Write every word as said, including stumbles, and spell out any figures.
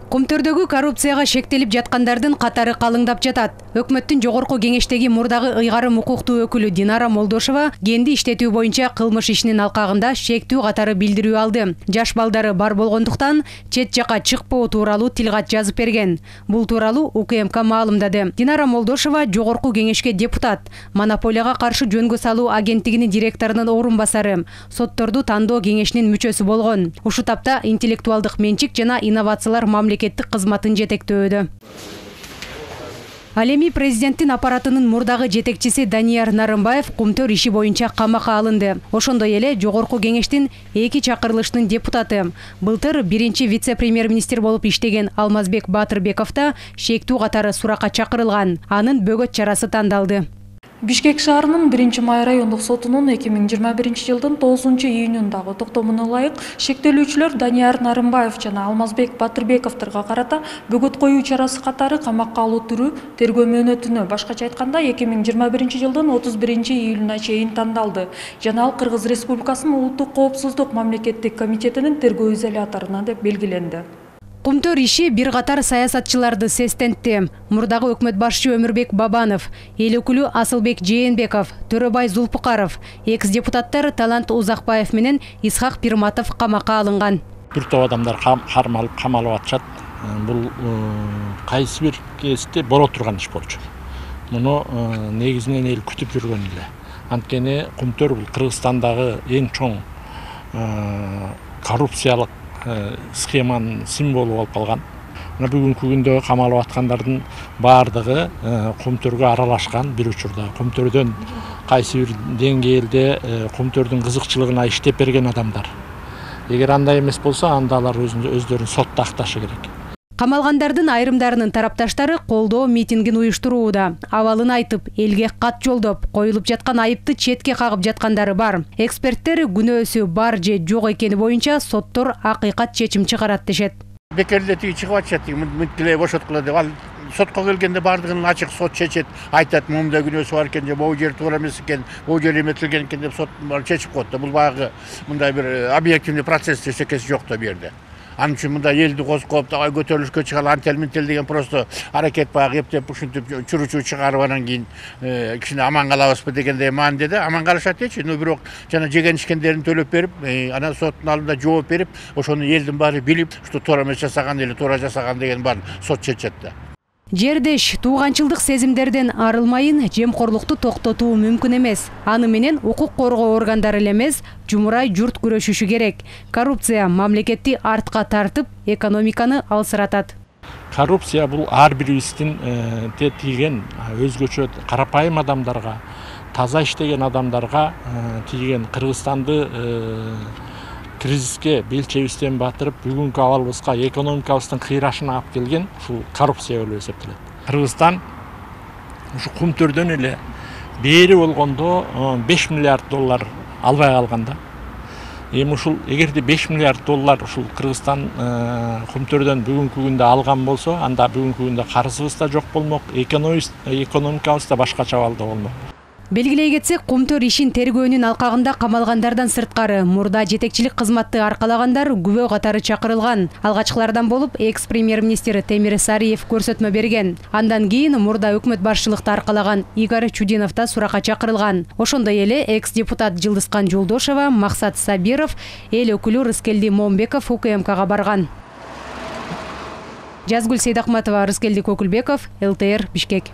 Кумтөрдөгү коррупцияга шектелип жаткандардын катары калыңдап жатат. Өкмөттүн жогорку кеңештеги мурдагы ыйгарым укуктуу өкүлү Динара Молдошова кенди иштетүү боюнча кылмыш ишинин алкагында шектүү катары билдирүү алды. Жаш балдары бар болгондуктан чет жака чыкпоо тууралуу тилгат жазып берген. Бул тууралуу У К М К маалымдады. Динара Молдошова жогорку кеңешке депутат, монополияга каршы жөнгө салуу агенттигинин директорунун орун басары, сотторду тандоо кеңешинин мүчөсү болгон. Ушу тапта интеллектуалдык менчик жана инновациялар мамлекеттик кызматын жетектөөдө. Ал эми президенттин аппаратынын мурдагы жетекчиси Данияр Нарымбаев Кумтөр иши боюнча камакка алынды. Ошондой эле жогорку кеңештин эки чакырылыштын депутаты. Былтыр биринчи вице-премьер-министр болуп иштеген Алмазбек Батырбеков да шектүү катары суракка чакырылган. Анын бөгөт чарасы тандалды. Бишкек шаарынын биринчи май райондук сотунун эки миң жыйырма биринчи жылдын тогузунчу июнундагы токтомуна ылайык шектелүүчүлөр Данияр Нарымбаев жана Алмазбек Батырбековторго карата бөгөт коюу чарасы катары камакка алуу түрү тергөө мөөнөтүнө, башкача айтканда эки миң жыйырма биринчи жылдын отуз биринчи июлуна чейин тандалды. Жана ал Кыргыз Республикасынын улуттук коопсуздук мамлекеттик комитетинин тергөө изоляторуна деп белгиленди. Кумтөр иши бир катар саясатчыларды сестентти. Мурдагы өкмөт башчы Өмүрбек Бабанов, эл өкүлү Асылбек Жээнбеков, Төрөбай Зулпукаров, экс-депутаттар Талант Узакбаев менен Исхак Пирматов камакка алынган. Бир топ адамдар кармалып камалып атышат. Бул кайсы бир кезде боло турган иш болчу. Муну негизинен эл күтүп жүргөн эле. Анткени Кумтөр бул Кыргызстандагы эң чоң коррупциялык схеманын символу болуп калган. Мына бүгүнкү күндө камалып аткандардын баардыгы Кумтөргө аралашкан бир учурда. Кумтөрдөн кайсы бир деңгээлде Кумтөрдүн кызыкчылыгына иштеп берген адамдар. Эгер андай эмес болсо, анда алар өздөрүн сотто акташы керек. Камалгандардын айрымдарынын тарапташтары колдоо митингин уюштурууда. Абалын айтып, элге кат жолдоп, коюлуп жаткан айыпты четке кагып жаткандары бар. Эксперттер күнөөсү бар же жок экени боюнча соттор акыйкат чечим чыгарат дешет. Бекерде тиги чыгып атышат, мынтиле бошоткула деп. Ал сотко келгенде бардыгын ачык сот чечет, айтат мумда күнөөсү бар экен же могу жер туура эмес экен, могу жер эметилген экен деп сот чечип коет да. Бул баягы мындай бир объективный процесс эчекеси жок да бу жерде. Анын үчүн мында элди козгоп, давай көтөрүлүшкө чыгалы, антел-ментел деген просто аракет баягы эптеп ушинтип чуручу чыгарып анан кийин кичине аман калабызбы дегендей маанидеде аман калышат эчи. Но бирок жана жеген ишкендерин төлөп берип, анан соттун алдында жооп берип, ошону элдин баары билип, что туура эмес жасаган эле туура жасаган деген баарын сот чечет да. Жердеш тууганчылдык сезимдерден арылмайын жемкорлукту токтотуу мүмкүн эмес. Аны менен укук коргоо органдары эле эмес, жумурай журт күрөшүшү керек. Коррупция мамлекетти артка тартып, экономиканы алсыратат. Коррупция бул ар бирибиздин тийген өзгөчө карапайым адамдарга, таза иштеген адамдарга тийген, Кыргызстанды кризиске белчебизден батырып, бүгүнкү абалыбызга, экономикабыздын кыйрашына алып келген ушул коррупция болуп эсептелет. Кыргызстан ушу Кумтөрдөн эле бери болгондо беш миллиард доллар албай калган да. Эми ушул эгерде беш миллиард доллар ушул Кыргызстан Кумтөрдөн бүгүнкү күндө алган болсо, анда бүгүнкү күндө карызыбыз да жок болмок, экономикабыз да башкача абалда болмок. Белгилей кетсек, Кумтөр ишин тергөөнүн алкагында камалгандардан сырткары мурда жетекчилик кызматты аркалагандар күбө катары чакырылган. Алгачкылардан болуп экс-премьер-министр Темир Сариев көрсөтмө берген. Андан кийин мурда өкмөт башчылыкты аркалаган Игорь Чудинов да суракка чакырылган. Ошондой эле экс-депутат Жылдызкан Жолдошова, Максат Сабиров, эл өкүлү Рыскелди Момбеков У К М Кга барган. Жазгүл Сейдахматова, Рыскелди Көкүлбеков, Л Т Р, Бишкек.